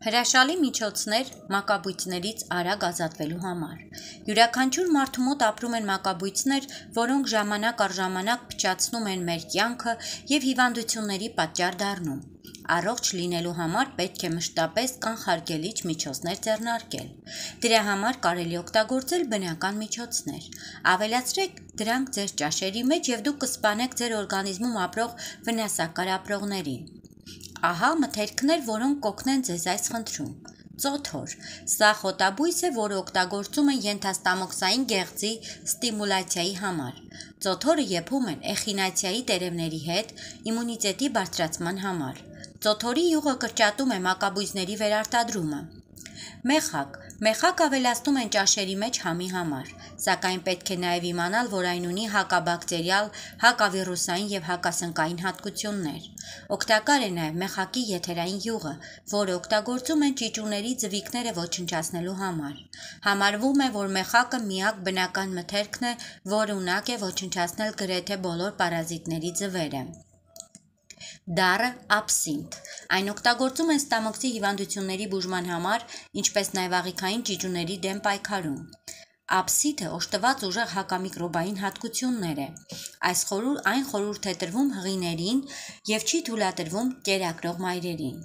Հրաշալի միջոցներ մակաբույծներից արագ ազատվելու համար։ Յուրաքանչյուր մարդու մոտ ապրում են մակաբույծներ, որոնք ժամանակ առ ժամանակ փչացնում են մեր կյանքը և հիվանդությունների պատճառ դառնում։ Առողջ լինելու համար պետք է մշտապես կանխարգելիչ միջոցներ ձեռնարկել։ Դրա համար կարելի է օգտագործել բնական միջոցներ։ Ավելացրեք դրանք ձեր ճաշերի մեջ և դուք կսպանեք ձեր օրգանիզմում ապրող վնասակար ապրողներին։ Ահա մթերքներ, որոնք կօգնեն ձեզ այս խնդրում։ Ծոթոր։ Սա խոտաբույս է, որը օգտագործում են ենթաստամոքսային գեղձի ստիմուլյացիայի համար։ Ծոթորը եփում են էխինացիայի տերևների հետ իմունիտետի բարձրացման համար։ Ծոթորի յուղը կրճատում է մակաբույծների վերարտադրումը։ Մեխակ։ Մեխակ ավելացնում են ճաշերի մեջ համի համար, սակայն պետք է նաև իմանալ, որ այն ունի հակաբակտերիալ, հակավիրուսային և հակասնկային հատկություններ։ Օգտակար է նաև մեխակի եթերային յուղը, որը օգտագործում են ճիճուների ձվիկները ոչնչացնելու համար։ Համարվում է, որ մեխակը միակ բնական մթերքն է, որը ունակ է ոչնչացնել գրեթե բոլոր պարազիտների ձվերը։ Դառը աբսինթ։ Այն օգտագործում են ստամոքսի հիվանդությունների բուժման համար, ինչպես նաև աղիքային ճիճուների դեմ պայքարում։ Աբսիթը օժտված ուժեղ հակամիկրոբային հատկություններ է։ Այն խորհուրդ է տրվում հղիներին և չի թույլատրվում կերակրող մայրերին։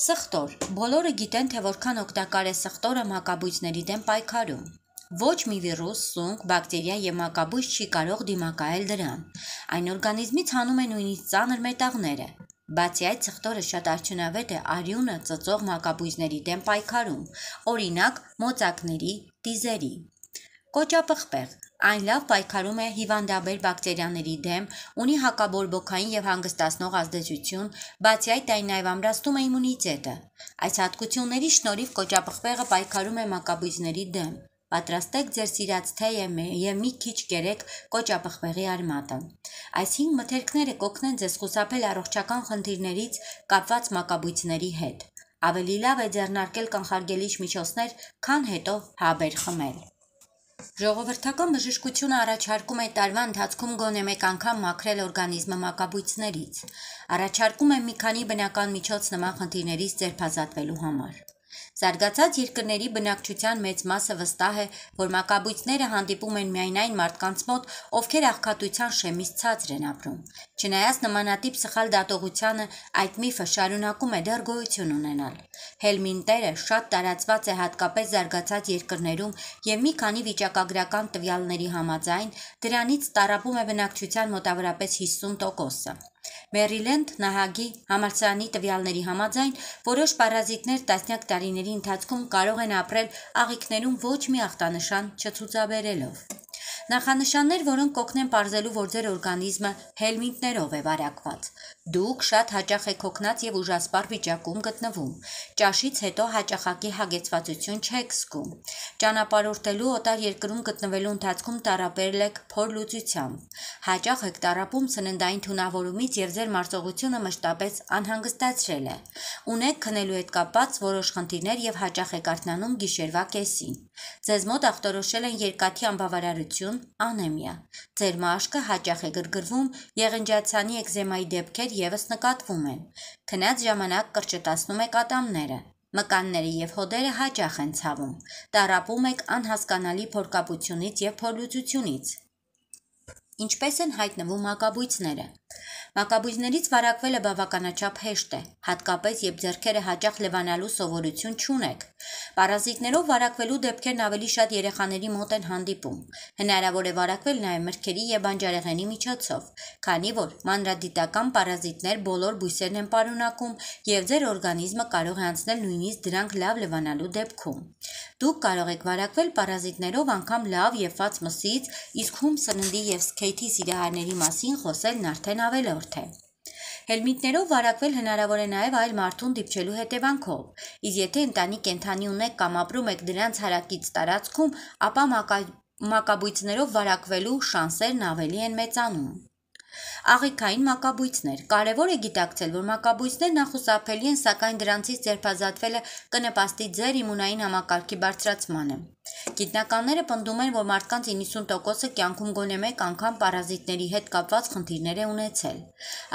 Սխտոր։ Բոլորը գիտեն, թե որքան օգտակար է սխտորը մակաբույծների դեմ պայքարում։ Ոչ մի վիրուս, սունկ, բակտերիա և մակաբույծ չի կարող դիմակայել դրան։ Այն օրգանիզմից հանում է նույնիսկ ծանր մետաղները։ Բացի այդ, սխտորը շատ արդյունավետ է արյունը ծծող մակաբույծների դեմ պայքարում, օրինակ մոծակների, տիզերի։ Կոճապղպեղ։ Այն լավ պայքարում է հիվանդաբեր բակտերիաների դեմ, ունի հակաբորբոքային և հանգստացնող ազդեցություն, բացի այդ այն նաև ամրացնում է իմունիտետը։ Այս հատկությունների շնորհիվ կոճապղպեղը պայքարում է մակաբույծների դեմ։ Պատրաստեք ձեր սիրած թեյը և մի քիչ կերեք կոճապղպեղի արմատը։ Այս 5 մթերքները կօգնեն ձեզ խուսափել առողջական խնդիրներից կապված մակաբույծների հետ։ Ավելի լավ է ձեռնարկել կանխարգելիչ միջոցներ, քան հետո հաբեր խմել։ Ժողովրդական բժշկությունը առաջարկում է տարվա ընթացքում գոնե մեկ անգամ մաքրել օրգանիզմը մակաբույծներից։ Առաջարկում է մի քանի բնական միջոց նման խնդիրներից ձերբազատվելու համար։ Զարգացած երկրների բնակչության մեծ մասը վստահ է, որ մակաբույծները հանդիպում են միայն այն մարդկանց մոտ, ովքեր աղքատության շեմից ցածր են ապրում։ Չնայած նմանատիպ սխալ դատողությանը, այդ միֆը շարունակում է դեռ գոյություն ունենալ։ Հելմինտերը շատ տարածված է հատկապես զարգացած երկրներում և մի քանի վիճակագրական տվյալների համաձայն դրանից տառապում է բնակչության մոտավորապես 50%-ը։ Մերիլենդ նահանգի համալսարանի տվյալների համաձայն որոշ պարազիտներ տասնյակ տարիների ընթացքում կարող են ապրել աղիքներում ոչ մի ախտանշան չցուցաբերելով։ Նախանշաններ, որոնք կօգնեն պարզելու, որ ձեր օրգանիզմը հելմինտներով է վարակված։ Դուք շատ հաճախ եք հոգնած և ուժասպառ վիճակում գտնվում։ Ճաշից հետո հաճախակի հագեցվածություն չեք զգում։ Ճանապարհորդելու, օտար երկրում գտնվելու ընթացքում տառապել եք փորլուծությամբ։ Հաճախ եք տառապում սննդային թունավորումից և ձեր մարսողությունը մշտապես անհանգստացրել է։ Ունեք քնելու հետ կապված որոշ խնդիրներ և հաճախ եք արթնանում գիշերվա կեսին։ Ձեզ մոտ ախտորոշել են երկաթի անբավարարություն, անեմիա։ Ձեր մաշկը հաճախ է գրգռվում, եղնջացանի էկզեմայի դեպքեր ևս նկատվում են։ Քնած ժամանակ կրճտացնում եք ատամները։ Մկանները և հոդերը հաճախ են ցավում։ Տառապում եք անհասկանալի փորկապությունից և փորլուծությունից։ Ինչպես են հայտնվում մակաբույծները։ Մակաբույծներից վարակվելը բավականաչափ հեշտ է, հատկապես երբ ձեռքերը հաճախ լվանալու սովորություն չունեք։ Պարազիտներով վարակվելու դեպքերն ավելի շատ երեխաների մոտ են հանդիպում։ Հնարավոր է վարակվել նաև մրգերի և բանջարեղենի միջոցով, քանի որ մանրադիտական պարազիտներ բոլոր բույսերն են պարունակում և ձեր օրգանիզմը կարող է անցնել նույնիսկ դրանք լավ լվանալու դեպքում։ Դուք կարող եք վարակվել պարազիտներով անգամ լավ եփված մսից, իսկ հում սննդի և սքեյթի սիրահարների մասին խոսելն արդեն ավելորդ է։ Հելմինտներով վարակվել հնարավոր է նաև այլ մարդուն դիպչելու հետևանքով, իսկ եթե ընտանի կենդանի ունեք կամ ապրում եք դրանց հարակից տարածքում, ապա մակաբույծներով վարակվելու շանսերն ավելի են մեծանում։ Աղիքային մակաբույծներ։ Կարևոր է գիտակցել, որ մակաբույծներն անխուսափելի են, սակայն դրանցից ձերբազատվելը կնպաստի ձեր իմունային համակարգի բարձրացմանը։ Գիտնականները պնդում են, որ մարդկանց 90%-ը կյանքում գոնե մեկ անգամ պարազիտների հետ կապված խնդիրներ է ունեցել։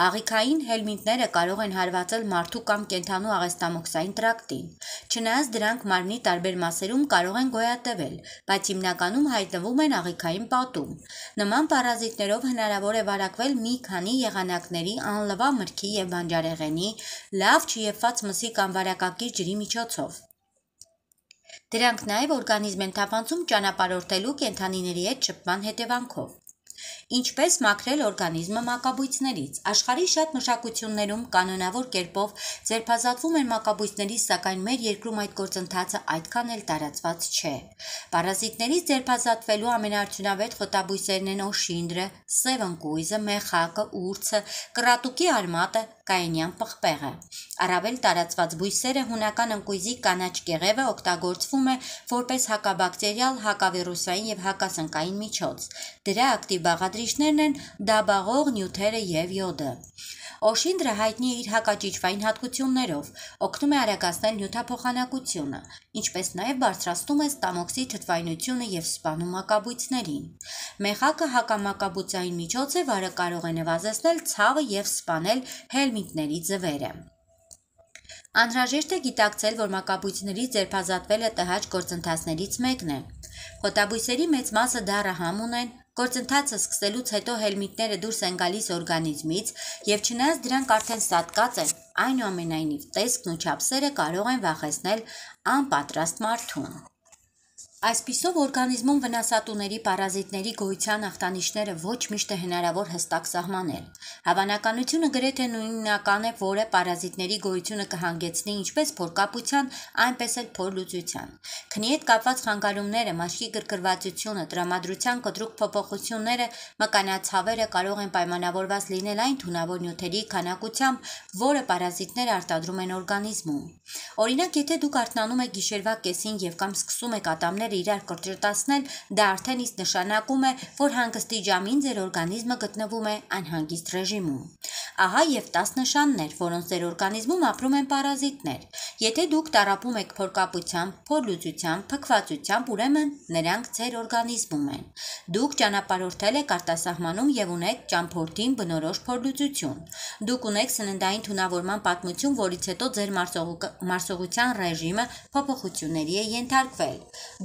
Աղիքային հելմինտները կարող են հարվածել մարդու կամ կենդանու աղեստամոքսային տրակտին։ Չնայած դրանք մարմնի տարբեր մասերում կարող են գոյատևել, բայց հիմնականում հայտնվում են աղիքային պատում։ Նման պարազիտներով հնարավոր է վարակվել մի քանի եղանակների, անլվա մրգի և բանջարեղենի, լավ չեփված մսի կամ վարակակիր ջրի միջոցով։ Դրանք նաև օրգանիզմ են թափանցում ճանապարհորդելու կենդանիների հետ շփման հետևանքով։ Ինչպես մաքրել օրգանիզմը մակաբույծներից։ Աշխարհի շատ մշակություններում կանոնավոր կերպով ձերբազատվում են մակաբույծներից, սակայն մեր երկրում այդ գործընթացը այդքան էլ տարածված չէ։ Պարազիտներից ձերբազատվելու ամենաարդյունավետ խոտաբույսերն են օշինդրը, սևընկույզը, մեխակը, ուրցը, կռատուկի արմատը, կայենյան պղպեղը։ Առավել տարածված բույսերը հունական ընկույզի կանաչ կեղևը օգտագործվում է որպես հակաբակտերիալ, հակավիրուսային և հակասնկային միջոց։ Դրա ակտիվ բաղադրիչներն են դաբաղող նյութերը և յոդը։ Օշինդրը հայտնի է իր հակաճիճվային հատկություններով, օգնում է արագացնել նյութափոխանակությունը, ինչպես նաև բարձրացնում է ստամոքսի թթվայնությունը և սպանում մակաբույծներին։ Մեխակը հակամակաբուծային միջոց է, որը կարող է նվազեցնել ցավը և սպանել հելմինտների ձվերը։ Անհրաժեշտ է գիտակցել, որ մակաբույծներից ձերբազատվելը տհաճ գործընթացներից մեկն է։ Խոտաբույսերի մեծ մասը դառահամ ունեն, գործընթացը սկսելուց հետո հելմինտները դուրս են գալիս օրգանիզմից և չնայած դրանք արդեն սատկած են, այնուամենայնիվ տեսքն ու չափսերը կարող են վախեցնել անպատրաստ մարդուն։ Այսպիսով օրգանիզմում վնասատուների պարազիտների գոյության ախտանիշները ոչ միշտ է հնարավոր հստակ սահմանել։ Հավանականությունը գրեթե նույնական է, որը պարազիտների գոյությունը կհանգեցնի ինչպես փորկապության, այնպես էլ փորլուծության։ Քնի հետ կապված խանգարումները, մաշկի գրգռվածությունը, տրամադրության կտրուկ փոփոխությունները, մկանացավերը կարող են պայմանավորված լինել այն թունավոր նյութերի քանակությամբ, որը պարազիտները արտադրում են օրգանիզմում։ Օրինակ, եթե դուք արթնանում եք գիշերվա կեսին և կամ սկսում եք ատամները իրար կրճտացնել, դա արդեն իսկ նշանակում է, որ հանգստի ժամին ձեր օրգանիզմը գտնվում է անհանգիստ ռեժիմում։ Ահա և 10 նշաններ, որոնց ձեր օրգանիզմում ապրում են պարազիտներ։ Եթե դուք տառապում եք փորկապությամբ, փորլուծությամբ, փքվածությամբ, ուրեմն նրանք ձեր օրգանիզմում են։ Դուք ճանապարհորդել եք արտասահմանում և ունեք ճամփորդին բնորոշ փորլուծություն։ Դուք ունեք սննդային թունավորման պատմություն, որից հետո ձեր մարսողության ռեժիմը փոփոխությունների է ենթարկվել։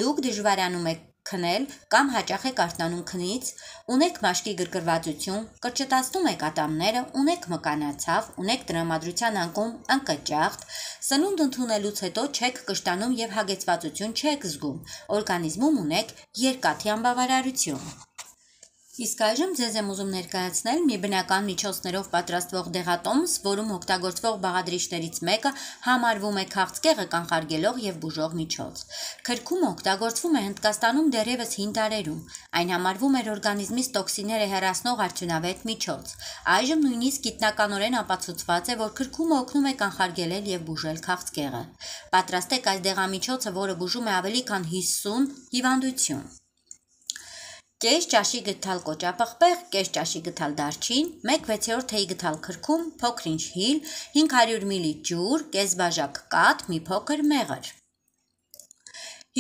Դուք դժվարանում եք քնել կամ հաճախ եք արթնանում քնից, ունեք մաշկի գրգռվածություն, կրճտացնում եք ատամները, ունեք մկանացավ, ունեք տրամադրության անկում, անկճախտ, սնունդ ընդունելուց հետո չեք կշտանում և հագեցվածություն չեք զգում, օրգանիզմում ունեք երկաթի անբավարարություն։ Իսկ այժմ ձեզ եմ ուզում ներկայացնել մի բնական միջոցներով պատրաստվող դեղատոմս, որում օգտագործվող բաղադրիչներից մեկը համարվում է քաղցկեղը կանխարգելող և բուժող միջոց։ Քրքումը օգտագործվում է Հնդկաստանում դեռևս հին դարերում։ Այն համարվում էր օրգանիզմից տոքսինները հեռացնող արդյունավետ միջոց։ Այժմ նույնիսկ գիտնականորեն ապացուցված է, որ քրքումը օգնում է կանխարգելել և բուժել քաղցկեղը։ Պատրաստեք այս դեղամիջոցը, որը բուժում է ավելի քան 50 հիվանդություն։ Կես ճաշի գթալ կոճապղպեղ, կես ճաշի գթալ դարչին, 1/6 թեյ գթալ քրքում, փոքր-ինչ հիլ, 500 մլ ջուր, կես բաժակ կաթ, մի փոքր մեղր։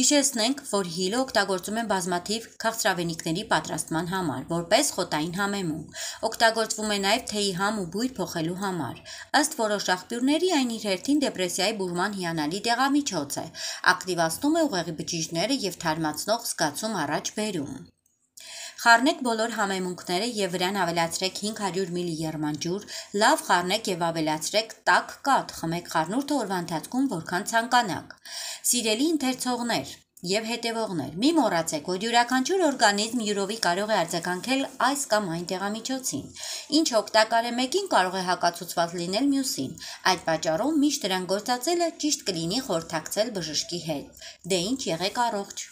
Հիշեցնենք, որ հիլը օգտագործում են բազմաթիվ քաղցրավենիքների պատրաստման համար, որպես խոտային համեմում։ Օգտագործվում է նաև թեյի համ ու բույր փոխելու համար։ Ըստ որոշ աղբյուրների այն իր հերթին դեպրեսիայի բուժման հիանալի դեղամիջոց է, ակտիվացնում է ուղեղի բջիջները և թարմացնող զգացում առաջ բերում։ Խառնեք բոլոր համեմունքները և վրան ավելացրեք 500 մլ եռմանջուր, լավ խառնեք և ավելացրեք տաք կաթ, խմեք խառնուրդը օրվա ընթացքում որքան ցանկանաք։ Սիրելի ընթերցողներ և հետևողներ, մի մոռացեք, որ յուրաքանչյուր օրգանիզմ յուրովի կարող է արձագանքել այս կամ այն դեղամիջոցին։ Ինչը օգտակար է մեկին, կարող է հակացուցված լինել մյուսին։ Այդ պատճառով միշտ դրան գործածելը ճիշտ կլինի խորհրդակցել բժշկի հետ։ Դե ինչ, եղեք առողջ։